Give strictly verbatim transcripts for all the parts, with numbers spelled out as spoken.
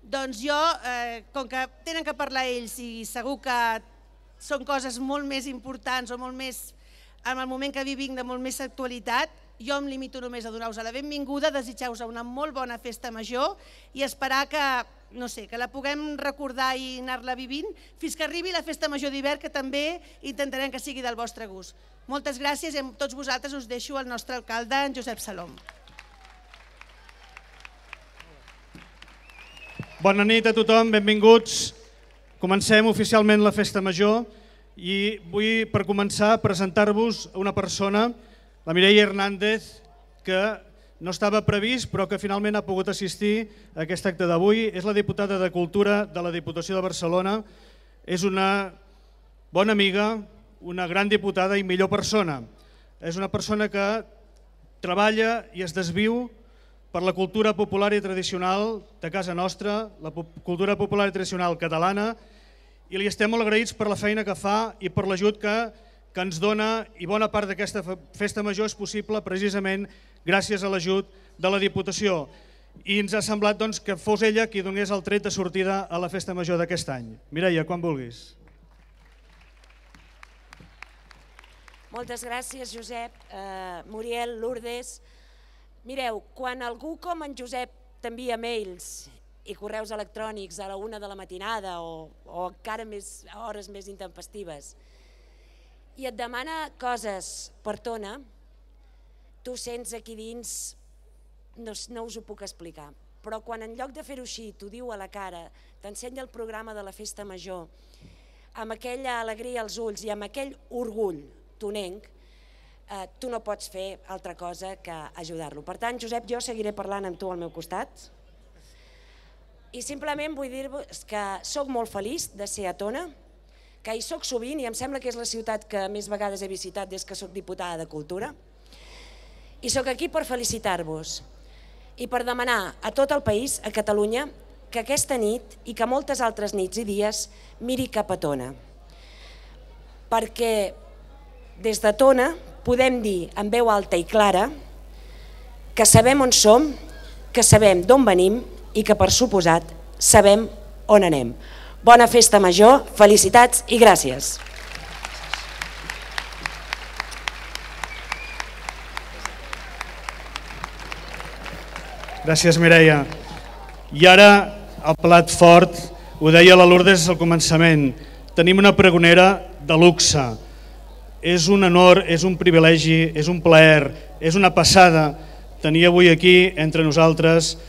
Doncs jo, com que tenen que parlar ells i segur que són coses molt més importants o molt més, en el moment que vivim, de molt més actualitat, jo em limito només a donar-vos la benvinguda, desitjar-vos una molt bona festa major i esperar que, no sé, que la puguem recordar i anar-la vivint fins que arribi la festa major d'hivern, que també intentarem que sigui del vostre gust. Moltes gràcies i amb tots vosaltres us deixo el nostre alcalde, en Josep Salom. Bona nit a tothom, benvinguts. Comencem oficialment la festa major i vull, per començar, presentar-vos una persona, la Mireia Hernández, que no estava previst però que finalment ha pogut assistir a aquest acte d'avui. És la diputada de Cultura de la Diputació de Barcelona, és una bona amiga, una gran diputada i millor persona. És una persona que treballa i es desviu per la cultura popular i tradicional de casa nostra, la cultura popular i tradicional catalana, i li estem molt agraïts per la feina que fa i per l'ajut que que ens dona, i bona part d'aquesta festa major és possible precisament gràcies a l'ajut de la Diputació. I ens ha semblat que fos ella qui donés el tret de sortida a la festa major d'aquest any. Mireia, quan vulguis. Moltes gràcies, Josep, Muriel, Lourdes. Mireu, quan algú com en Josep t'envia mails i correus electrònics a la una de la matinada o encara a hores més intempestives, i et demana coses per tona, tu sents aquí dins, no us ho puc explicar, però quan en lloc de fer-ho així t'ho diu a la cara, t'ensenya el programa de la festa major, amb aquella alegria als ulls i amb aquell orgull tonenc, tu no pots fer altra cosa que ajudar-lo. Per tant, Josep, jo seguiré parlant amb tu al meu costat i simplement vull dir-vos que soc molt feliç de ser a Tona, que hi soc sovint i em sembla que és la ciutat que més vegades he visitat des que soc diputada de Cultura. I soc aquí per felicitar-vos i per demanar a tot el país, a Catalunya, que aquesta nit i que moltes altres nits i dies miri cap a Tona. Perquè des de Tona podem dir amb veu alta i clara que sabem on som, que sabem d'on venim i que, per suposat, sabem on anem. Bona festa major, felicitats i gràcies. Gràcies, Mireia. I ara el plat fort, ho deia la Lourdes al començament, tenim una pregonera de luxe. És un honor, és un privilegi, és un plaer, és una passada tenir avui aquí entre nosaltres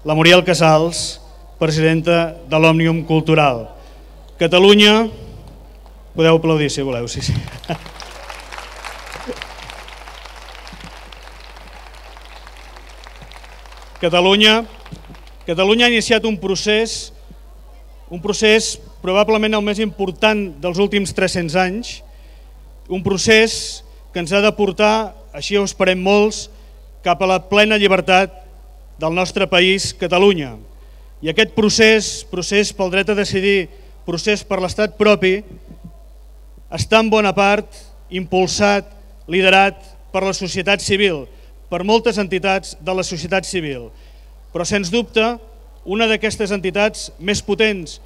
la Muriel Casals, presidenta de l'Òmnium Cultural. Catalunya, podeu aplaudir si voleu, sí, sí. Catalunya, Catalunya ha iniciat un procés, un procés probablement el més important dels últims tres-cents anys, un procés que ens ha de portar, així ho esperem molts, cap a la plena llibertat del nostre país, Catalunya. I aquest procés, procés pel dret a decidir, procés per l'estat propi, està en bona part impulsat, liderat per la societat civil, per moltes entitats de la societat civil. Però, sens dubte, una d'aquestes entitats més potents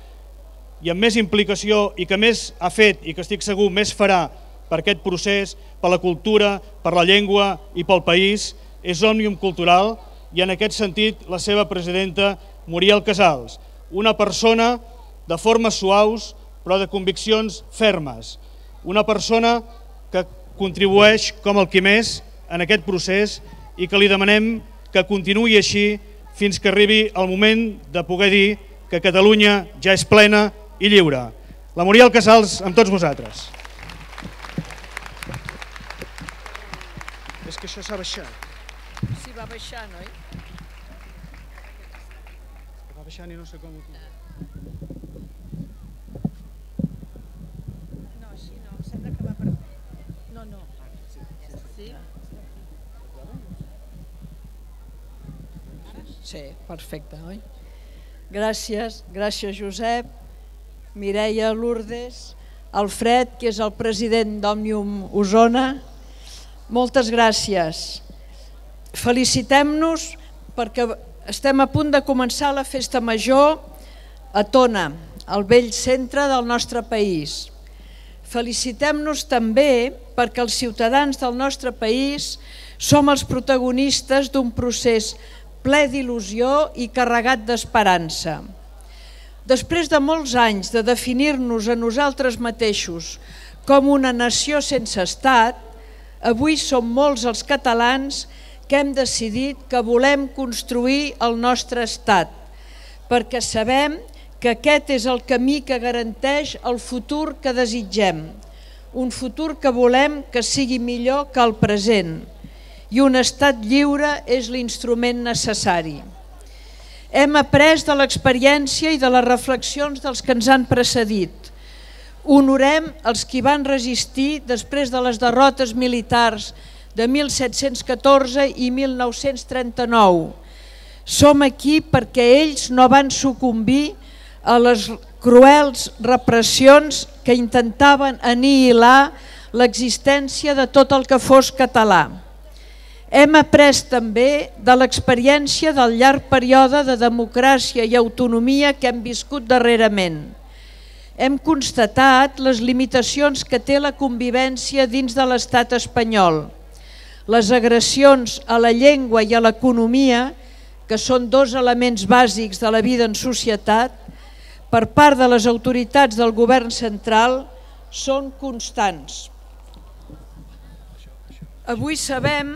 i amb més implicació i que més ha fet i que estic segur més farà per aquest procés, per la cultura, per la llengua i pel país, és Òmnium Cultural i en aquest sentit la seva presidenta Muriel Casals, una persona de formes suaus però de conviccions fermes, una persona que contribueix com el qui més en aquest procés i que li demanem que continuï així fins que arribi el moment de poder dir que Catalunya ja és plena i lliure. La Muriel Casals amb tots vosaltres. És que això s'ha baixat. Sí, va baixant, oi? Va baixant i no sé com... No, així no, em sembla que va per... No, no. Sí? Sí, perfecte, oi? Gràcies, gràcies Josep, Mireia, Lourdes, Alfred, que és el president d'Òmnium Osona. Moltes gràcies. Felicitem-nos perquè estem a punt de començar la festa major a Tona, al vell centre del nostre país. Felicitem-nos també perquè els ciutadans del nostre país som els protagonistes d'un procés ple d'il·lusió i carregat d'esperança. Després de molts anys de definir-nos a nosaltres mateixos com una nació sense estat, avui som molts els catalans que hem decidit que volem construir el nostre estat, perquè sabem que aquest és el camí que garanteix el futur que desitgem, un futur que volem que sigui millor que el present, i un estat lliure és l'instrument necessari. Hem après de l'experiència i de les reflexions dels que ens han precedit. Honorem els qui van resistir després de les derrotes militars de mil set-cents catorze i mil nou-cents trenta-nou. Som aquí perquè ells no van sucumbir a les cruels repressions que intentaven anihilar l'existència de tot el que fos català. Hem après també de l'experiència del llarg període de democràcia i autonomia que hem viscut darrerament. Hem constatat les limitacions que té la convivència dins de l'estat espanyol, les agressions a la llengua i a l'economia, que són dos elements bàsics de la vida en societat, per part de les autoritats del govern central, són constants. Avui sabem,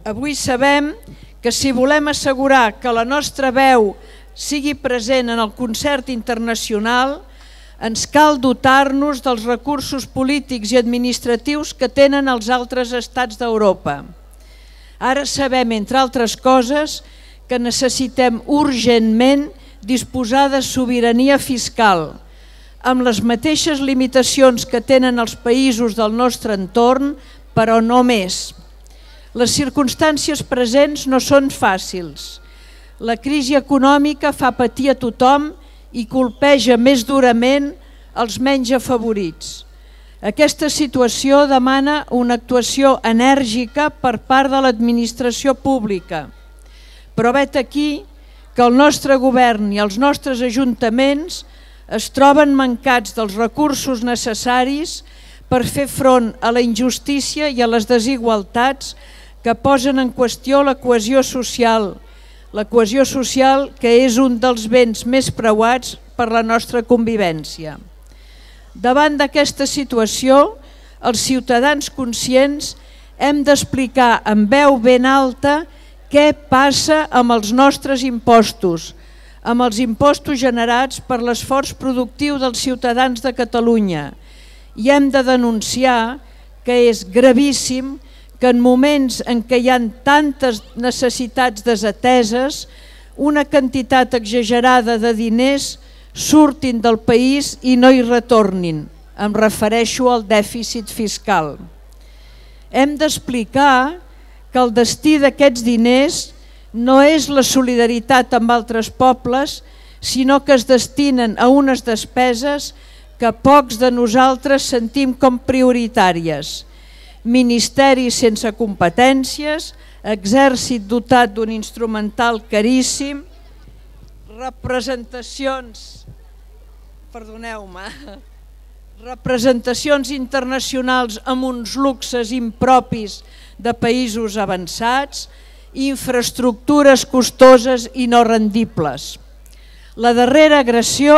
avui sabem que si volem assegurar que la nostra veu sigui present en el concert internacional, ens cal dotar-nos dels recursos polítics i administratius que tenen els altres estats d'Europa. Ara sabem, entre altres coses, que necessitem urgentment disposar de sobirania fiscal, amb les mateixes limitacions que tenen els països del nostre entorn, però no més. Les circumstàncies presents no són fàcils. La crisi econòmica fa patir a tothom i colpeja més durament els menys afavorits. Aquesta situació demana una actuació enèrgica per part de l'administració pública, però vet aquí que el nostre govern i els nostres ajuntaments es troben mancats dels recursos necessaris per fer front a la injustícia i a les desigualtats que posen en qüestió la cohesió social, la cohesió social que és un dels béns més preuats per la nostra convivència. Davant d'aquesta situació, els ciutadans conscients hem d'explicar amb veu ben alta què passa amb els nostres impostos, amb els impostos generats per l'esforç productiu dels ciutadans de Catalunya, i hem de denunciar que és gravíssim que en moments en què hi ha tantes necessitats desateses, una quantitat exagerada de diners surtin del país i no hi retornin. Em refereixo al dèficit fiscal. Hem d'explicar que el destí d'aquests diners no és la solidaritat amb altres pobles, sinó que es destinen a unes despeses que pocs de nosaltres sentim com prioritàries. Ministeri sense competències, exèrcit dotat d'un instrumental caríssim, representacions, perdoneu-me, representacions internacionals amb uns luxes impropis de països avançats, infraestructures costoses i no rendibles. La darrera agressió,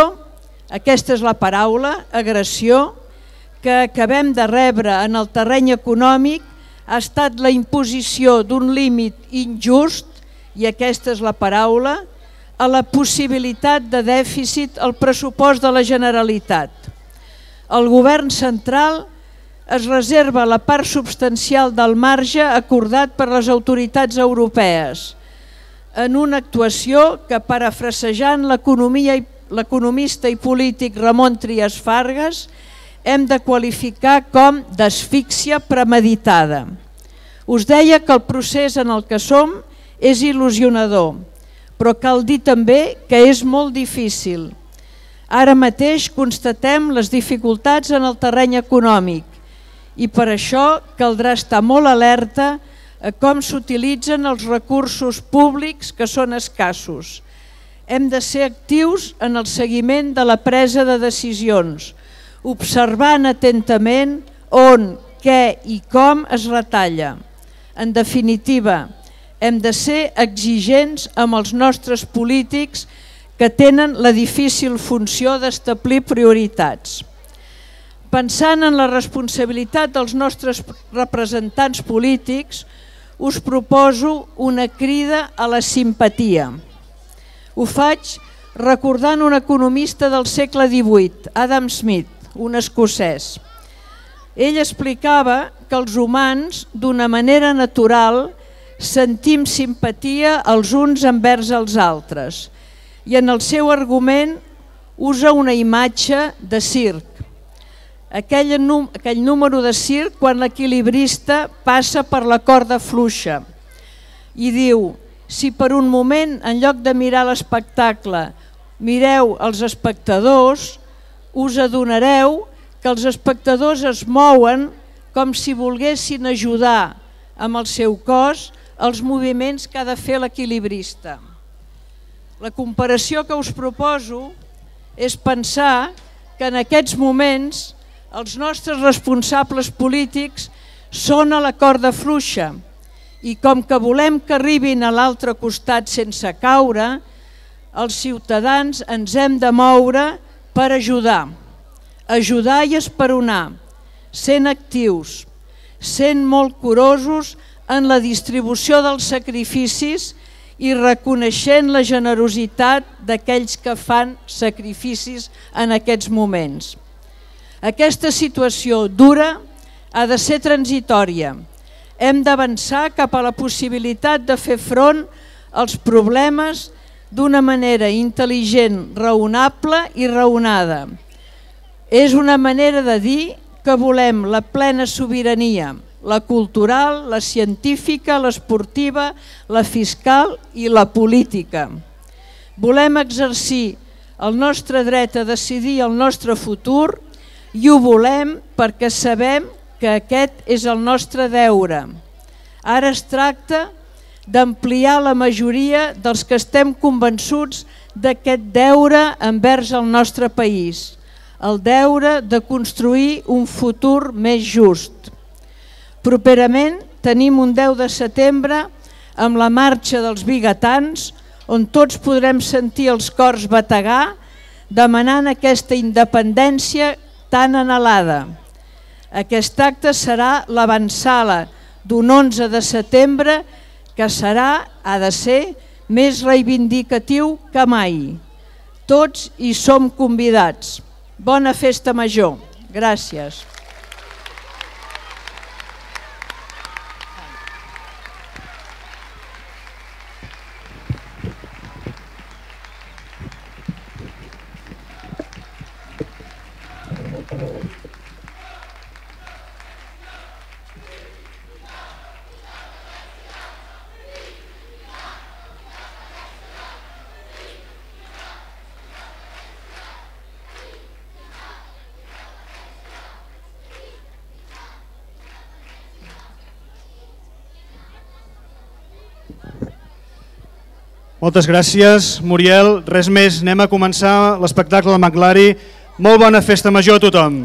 aquesta és la paraula, agressió, que acabem de rebre en el terreny econòmic ha estat la imposició d'un límit injust, i aquesta és la paraula, a la possibilitat de dèficit al pressupost de la Generalitat. El govern central es reserva la part substancial del marge acordat per les autoritats europees, en una actuació que, parafrasejant l'economista i polític Ramon Trias Fargas, hem de qualificar com d'asfíxia premeditada. Us deia que el procés en el que som és il·lusionador, però cal dir també que és molt difícil. Ara mateix constatem les dificultats en el terreny econòmic i per això caldrà estar molt alerta a com s'utilitzen els recursos públics que són escassos. Hem de ser actius en el seguiment de la presa de decisions, observant atentament on, què i com es retalla. En definitiva, hem de ser exigents amb els nostres polítics que tenen la difícil funció d'establir prioritats. Pensant en la responsabilitat dels nostres representants polítics, us proposo una crida a la simpatia. Ho faig recordant un economista del segle divuit, Adam Smith, un escocès. Ell explicava que els humans, d'una manera natural, sentim simpatia els uns envers els altres i en el seu argument usa una imatge de circ. Aquell, aquell número de circ quan l'equilibrista passa per la corda fluixa i diu: si per un moment, en lloc de mirar l'espectacle, mireu els espectadors, us adonareu que els espectadors es mouen com si volguessin ajudar amb el seu cos els moviments que ha de fer l'equilibrista. La comparació que us proposo és pensar que en aquests moments els nostres responsables polítics són a la corda fluixa i com que volem que arribin a l'altre costat sense caure, els ciutadans ens hem de moure per ajudar. Ajudar i esperonar, sent actius, sent molt curosos en la distribució dels sacrificis i reconeixent la generositat d'aquells que fan sacrificis en aquests moments. Aquesta situació dura ha de ser transitòria. Hem d'avançar cap a la possibilitat de fer front als problemes d'una manera intel·ligent, raonable i raonada. És una manera de dir que volem la plena sobirania, la cultural, la científica, l'esportiva, la fiscal i la política. Volem exercir el nostre dret a decidir el nostre futur i ho volem perquè sabem que aquest és el nostre deure. Ara es tracta d'ampliar la majoria dels que estem convençuts d'aquest deure envers el nostre país, el deure de construir un futur més just. Properament tenim un deu de setembre amb la marxa dels vigatans, on tots podrem sentir els cors bategar demanant aquesta independència tan anhelada. Aquest acte serà l'avantsala d'un onze de setembre que serà, ha de ser, més reivindicatiu que mai. Tots hi som convidats. Bona festa major. Gràcies. Moltes gràcies, Muriel. Res més, anem a començar l'espectacle de McLary. Molt bona festa major a tothom.